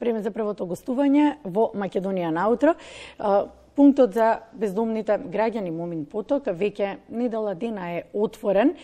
Време за првото гостување во Македонија наутро. Пунктот за бездомните граѓани Момин Поток веќе недела дена е отворен.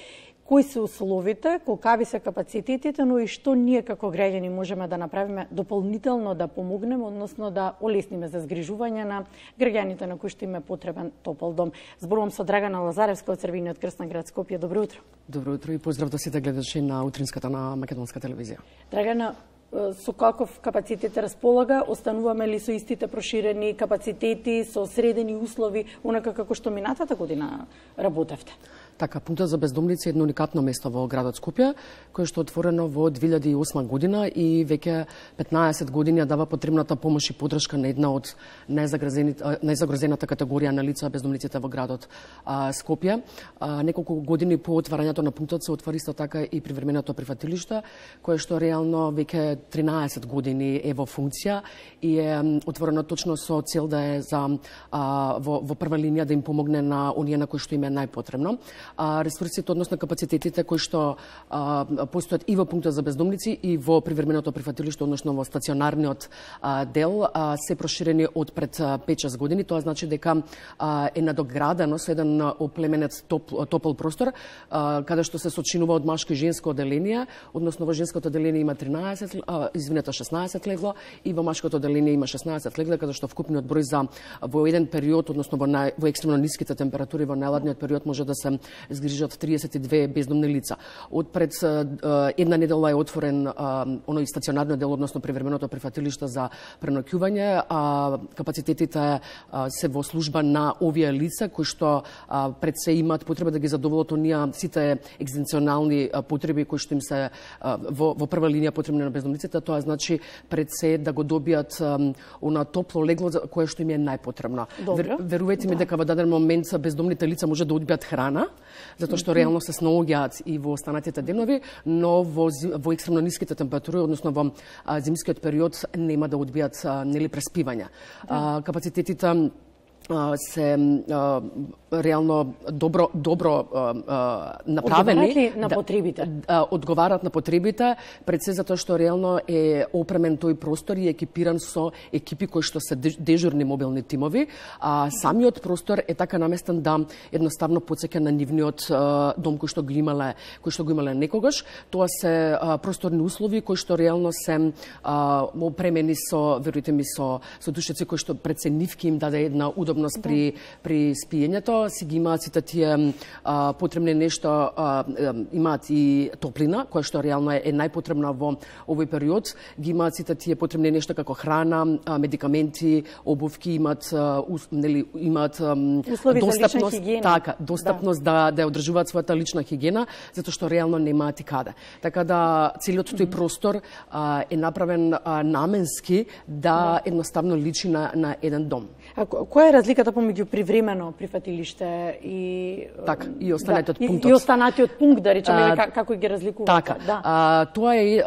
Кои се условите, колкави се капацитетите, но и што ние како граѓани можеме да направиме дополнително да помогнеме, односно да олесниме за згрижување на граѓаните на кои што им е потребен топол дом. Зборувам со Драгана Лазаревска од Црвениот крст на град Скопје. Добро утро. Добро утро и поздрав до сите гледачи на утринската на македонска телевизија. Драгана, со каков капацитет располага? Остануваме ли со истите проширени капацитети, со средени услови, онака како што минатата година работевте? Така, пунктот за бездомници е едно уникатно место во градот Скопје, кое што е отворено во 2008 година и веќе 15 години дава потребната помош и поддршка на една од најзагрозената категорија на лица бездомниците во градот Скопје. Неколку години по отварањето на пунктот се отвори исто така и привременото прифатилиште, кое што реално веќе 13 години е во функција и е отворено точно со цел да е за во прва линија да им помогне на оние на кои што им е најпотребно. Ресурсите, односно капацитетите кои што постојат и во пунктот за бездомници и во привременото прифатилиште, односно во стационарниот дел, се проширени од пред 5-6 години. Тоа значи дека е надоградено со еден оплеменет топол простор, каде што се сочинува од машко и женско оделение, односно во женското оделение има 16 легло и во машкото оделение има 16 легла, каде што вкупниот број за во еден период, односно во екстремно ниските температури во најладниот период може да се згрижат 32 бездомни лица. Од пред една недела е отворен оној стационарниот дел, односно привременото прифатилиште за преноќување. Капацитетите се во служба на овие лица кои што пред се имаат потреба да ги задоволат оние сите екзистенционални потреби кои што им се во прва линија потребни на бездомниците. Тоа значи пред се да го добијат она топло легло кое што им е најпотребно. Верувајте ми дека во даден момент бездомните лица може да одбијат храна, затоа што реално се снаоѓаат и во останатите денови, но во екстремно ниските температури, односно во зимскиот период нема да одбијат преспивање. Капацитетите се реално добро направени. Одговарат ли на потребите? Одговарат на потребите, пред се затоа што реално е опремен тој простор и екипиран со екипи кои што се дежурни мобилни тимови. Самиот простор е така наместен да едноставно потсеќа на нивниот дом кој што го имале некогаш. Тоа се просторни услови кои што реално се опремени со, верујте ми, со душеци кои што пред се нивки им даде една удобност при спиењето. Си ги имаат сите тие потребни нешто, имаат и топлина, која што реално е најпотребна во овој период. Ги имаат сите тие потребни нешто како храна, медикаменти, обувки, имаат достапност, достапност да ја одржуваат својата лична хигиена, затоа што реално немаат и каде. Така да целиот тој простор е направен наменски да едноставно личи на еден дом. А која е разликата помеѓу привремено прифатилиште и и останатиот пункт? И останатиот пункт, да речеме, како ги разликувате? Така. Тоа е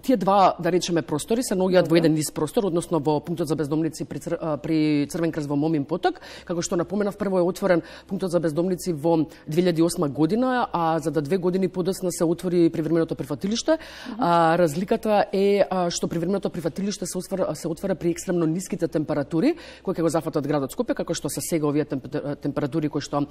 тие два, да речеме, простори се наоѓаат во еден низ простор, односно во пунктот за бездомници при Црвен крст во Момин Поток, како што напоменав, прво е отворен пунктот за бездомници во 2008 година, а за 2 години подоцна се отвори привременото прифатилиште. Разликата е што привременото прифатилиште се отвара при екстремно ниските температури кои ќе го зафатат градот Скопје, како што се сега овие температури кои што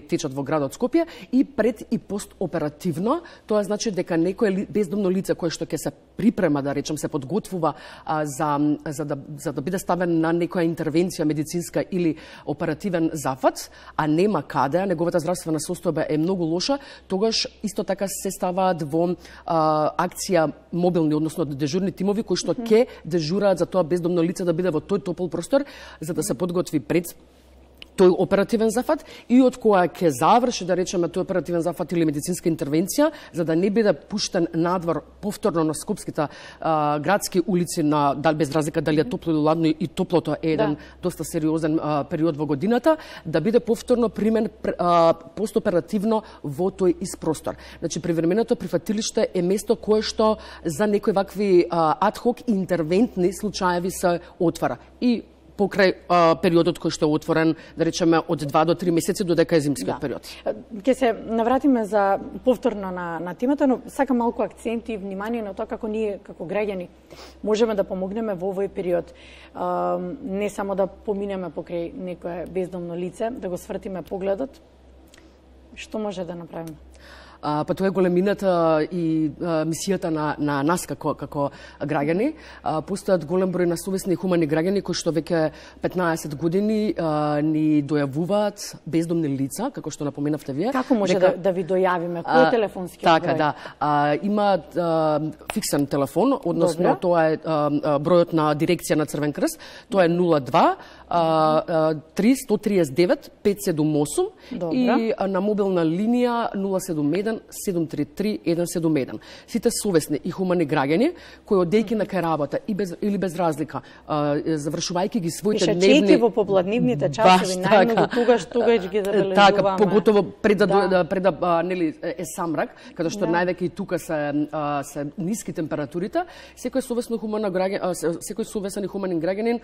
течат во градот Скопје, и пред и постоперативно. Тоа значи дека некое бездомно лице кое што ќе се припрема, да речем, се подготвува за да биде ставен на некоја интервенција медицинска или оперативен зафат, а нема каде, неговата здравствена состојба е многу лоша, тогаш исто така се ставаат во акција мобилни, односно дежурни тимови кои што ќе дежураат за тоа бездомно лице да биде во тој топол простор, за да се подготви пред тој оперативен зафат и од која ќе заврши, да речеме, тој оперативен зафат или медицинска интервенција, за да не биде пуштен надвор повторно на скопските градски улици, без разлика дали е топло или ладно, и топлото е еден доста сериозен период во годината, да биде повторно примен постоперативно во тој ист простор. Значи, привременото прифатилиште е место кое што за некои вакви адхок интервентни случаеви се отвара. И покрај периодот кој што е отворен, да речеме, од 2 до 3 месеци додека е зимскиот период. Ќе се навратиме за повторно на темата, но сакам малку акцент и внимание на тоа како ние, како граѓани, можеме да помогнеме во овој период. Не само да поминеме покрај некое бездомно лице, да го свртиме погледот. Што може да направиме? Па тоа е големината и мисијата на нас како граѓани. Постојат голем број на совесни и хумани граѓани кои што веќе 15 години ни дојавуваат бездомни лица, како што напоменавте вие. Како може да ви дојавиме? Кој е телефонски број? Така, да. Има фиксен телефон, односно тоа е бројот на дирекција на Црвен крст, тоа е 02 339 578 и на мобилна линија 071 733 171. Сите совесни и хумани граѓани кои одејќи на кај работа или без разлика, завршувајќи ги своите дневни... Пишачејќи во попладнивните часови, најмногу тогаш ги забележуваме. Така, поготово пред да нели е самрак, каде што највеќе и тука се ниски температурите, секој совесно хумана граѓанин, секој совесен и хуманин граѓанин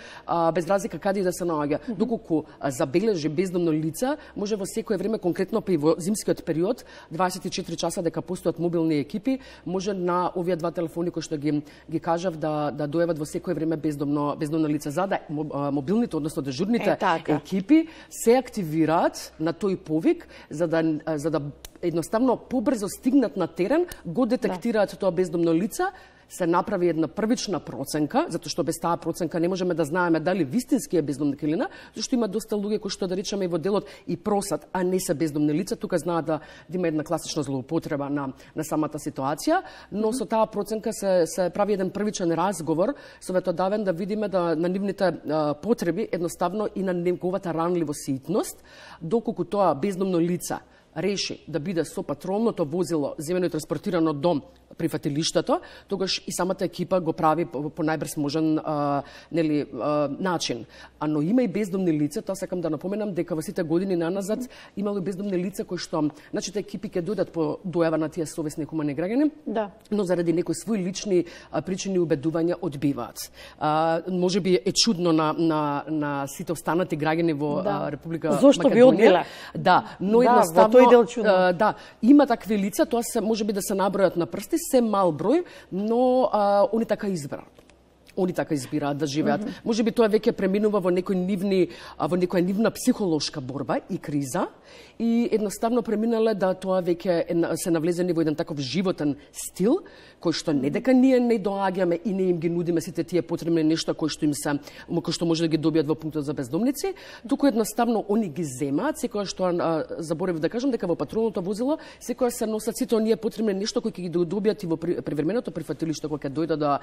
без разлика каде и да се наоѓа, доколку забележи бездомно лице, може во секое време, конкретно па и во зимскиот период, 24 часа дека постојат мобилни екипи, може на овие два телефони кои што ги кажав да дојават во секое време бездомно лице, за да мобилните, односно дежурните екипи се активираат на тој повик за да едноставно побрзо стигнат на терен, го детектираат тоа бездомно лице, се направи една првична проценка, затоа што без таа проценка не можеме да знаеме дали вистински е бездомник или не, зашто има доста луѓе кои што да речеме и во делот и просат, а не се бездомни лица, тука знаат да има една класична злоупотреба на самата ситуација, но со таа проценка се прави еден првичен разговор советодавен да видиме да на нивните потреби едноставно и на неговата ранливост и итност, доколку тоа бездомно лице реши да биде со патролното возило земено и транспортирано до прифатилиштето, тогаш и самата екипа го прави по најбрз можен начин. Но има и бездомни лица, тоа сакам да напоменам дека во сите години наназад имало бездомни лица кои што нашите екипи ќе дојдат по дојава на тие совесни хумани граѓани, но заради некои своји лични причини и убедувања одбиваат. Можеби е чудно на сите останати граѓани во Република Македонија. Зошто би одбиле? Да, но едноставно има такви лица, тоа се можеби да се набројат на прсти, се мал број, но они така избрат. Они така избираат да живеат. Можеби тоа веќе преминува во некоја нивна психолошка борба и криза и едноставно преминале да тоа веќе се навлезени во еден таков животен стил кој што не дека ние не доаѓаме и не им ги нудиме сите тие потребни нешта кои што може да ги добијат во пунктот за бездомници, туку едноставно они ги земаат, секогаш што заборев да кажам дека во патролното возило секогаш се носат сите оние потребни нешта кои ќе ги добијат и во привременото прифатилиште кога ќе дојдат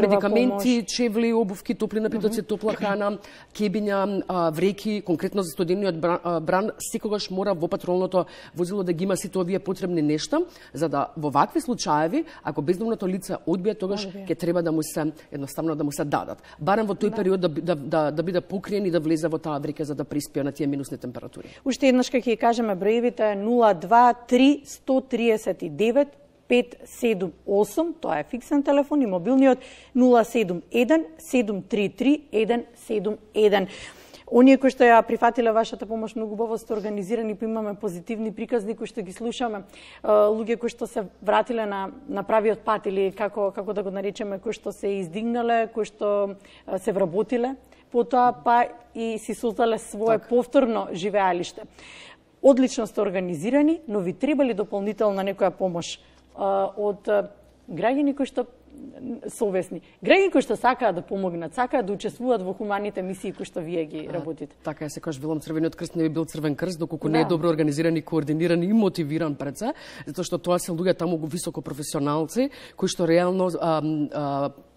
медикаменти, чевли, обувки, топли напитоци, топла храна, кебиња, вреки, конкретно за студениот бран, секогаш мора во патролното возило да ги има сите овие потребни нешта, за да во вакви случаи ако бездомното лице одбие, тогаш ќе треба да му се едноставно да му се дадат. Барем во тој период да биде покриен и да влезе во таа врека за да приспие на тие минусни температури. Уште еднаш ќе кажеме броевите 023 139 578, тоа е фиксен телефон, и мобилниот 071 733 171. Оние кои што ја прифатиле вашата помош многу убаво сте организирани, имаме позитивни приказни кои што ги слушаме, луѓе кои што се вратиле на правиот пат или како да го наречеме, кои што се издигнале, кои што се вработиле, потоа па и си создале свое повторно живеалиште. Одлично сте организирани, но ви требали дополнителна некоја помош од граѓани кои што совесни. Граѓани кои што сакаат да помогнат, сакаат да учествуваат во хуманите мисии кои што вие ги работите. Така е, секогаш велам Црвениот крст не би бил Црвен крст доколку не е добро организиран и координиран и мотивиран пред се, затоа што тоа се луѓе таму високо професионалци кои што реално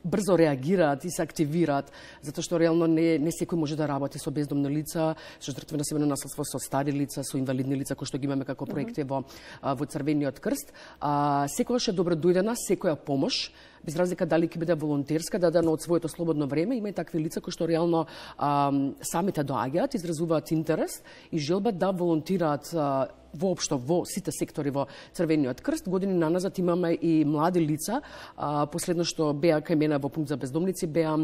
брзо реагираат и се активираат, затоа што реално не секој може да работи со бездомни лица, со жртви на себено насилство, со стари лица, со инвалидни лица кои што ги имаме како проекти во Црвениот крст. Секогаш е добро дојдена секоја помош, без разлика дали ќе биде волонтерска, дадена од своето слободно време. Има и такви лица кои што реално самите доаѓаат, изразуваат интерес и желба да волонтираат воопшто во сите сектори во Црвениот крст. Години наназад имаме и млади лица. Последно што беа кај мене во пункт за бездомници беа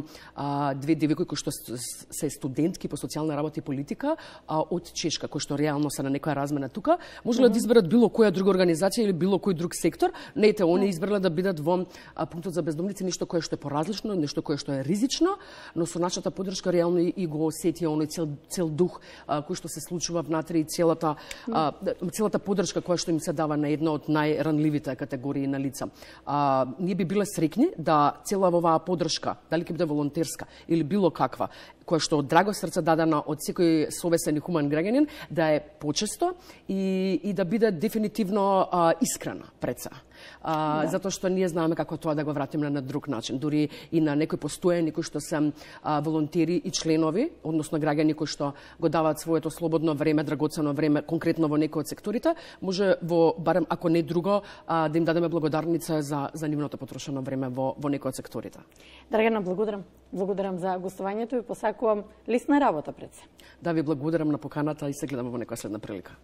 две девојки кои што се студентки по социјална работа и политика од Чешка, кои што реално се на некоја размена тука. Можеле да изберат било која друга организација или било кој друг сектор. Не, они избрале да бидат во пунктот за бездомници, нешто кое што е поразлично, нешто кое што е ризично, но со нашата поддршка реално и го осетија оној цел дух кој што се случува внатре и целата поддршка која што им се дава на една од најранливите категории на лица. Ние би биле среќни да цела оваа поддршка, дали ќе биде волонтерска или било каква, која што од драго срце дадена од секој совесен и хуман граѓанин, да е почесто и да биде дефинитивно искрена пред се. Затоа што ние знаеме како тоа да го вратиме на друг начин. Дури и на некои постојани кои што се волонтери и членови, односно граѓани кои што го даваат своето слободно време, драгоцено време, конкретно во некои од секторите, може барем ако не друго, да им дадеме благодарница за нивното потрошено време во некои од секторите. Драгана, благодарам. Благодарам за гостувањето и посакувам лесна работа пред се. Да ви благодарам на поканата и се гледаме во некоја следна прилика.